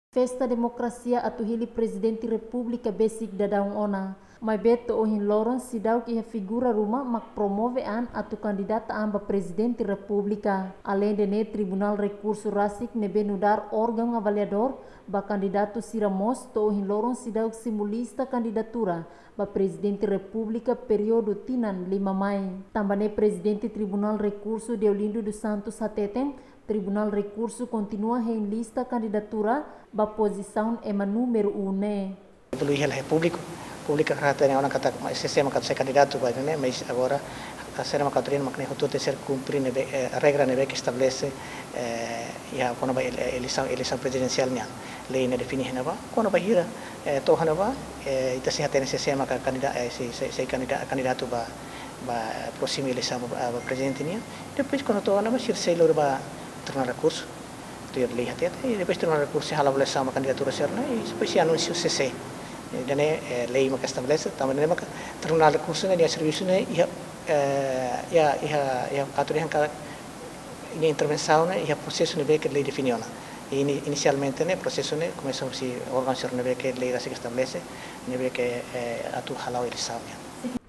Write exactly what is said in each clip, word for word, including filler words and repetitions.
Festa demokrasia atu hili Prezidente Repúblika besik daudaun ona. Maibé to'o ohin loron seidauk iha figura ruma mak promove an atu kandidata an ba Prezidente Repúblika. Aleinde ne'e, Tribunál Rekursu rasik ne'ebé nu'udar órgaun avaliadór ba kandidatu sira mós to'o ohin loron seidauk simu lista kandidatura ba Prezidente Repúblika períodu tinan lima mai. Tanba ne'e Prezidente Tribunál Rekursu Deolindo dos Santos hateten, Tribunál Rekursu kontinua hein lista kandidatura ba pozisaun ema númeru um ne'e. Belum iha la públiku, públiku rata ne'e ona katak, mas sira maka sai kandidatu ba ne'e, mas agora sira maka turin mak ne'e hotu tenke ser kumpre ne'ebé, eh, regra ne'ebé ke estabelese, eh, iha kona-ba ele-, eleisaun, eleisaun prezidensiál nian. Lei ne'e define iha ne'ebá, kona-ba hira, eh, to'o iha ne'ebá, eh, ita sei hatene sira maka kandida-, eh, sei, sei, sei kandida-, kandidatu ba, ba próxima eleisaun ba, ba prezidente nian. Depois kuandu to'o iha ne'ebá sira sei lori ba Tribunál Rekursu, tuir lei hatete, i depois Tribunál Rekursu sei hala'o avaliasaun ba kandidatura sira-ne'e, i depois sei anunsia C C. Ida-ne'e, eh, lei maka estabelese, tanba ne'e maka Tribunál Rekursu ne'e nia servisu ne'e iha, eh, iha, iha, iha atu dehan katak nia intervensaun ne'e iha prosesu ne'ebé ke lei define ona. I ini-, inisialmente ne'e prosesu ne'e komesa husi órgaun sira ne'ebé ke lei rasik estabelese, ne'ebé ke, eh, atu hala'o eleisaun nian.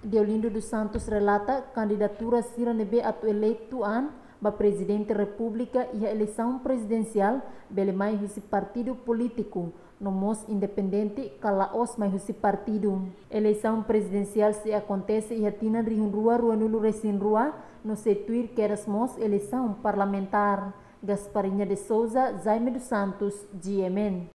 Deolindo dos Santos relata, kandidatura sira ne'ebé atu eleitu an ba Prezidente Repúblika iha eleisaun prezidensiál bele mai husi partidu polítiku, no mós independente ka la'ós mai husi partidu. Eleisaun prezidensiál sei akontese iha tinan rihun rua ruanulu-resin-rua, no sei tuir kedas mós eleisaun parlamentár. Gasparinha de Souza, Jaime dos Santos, G M N.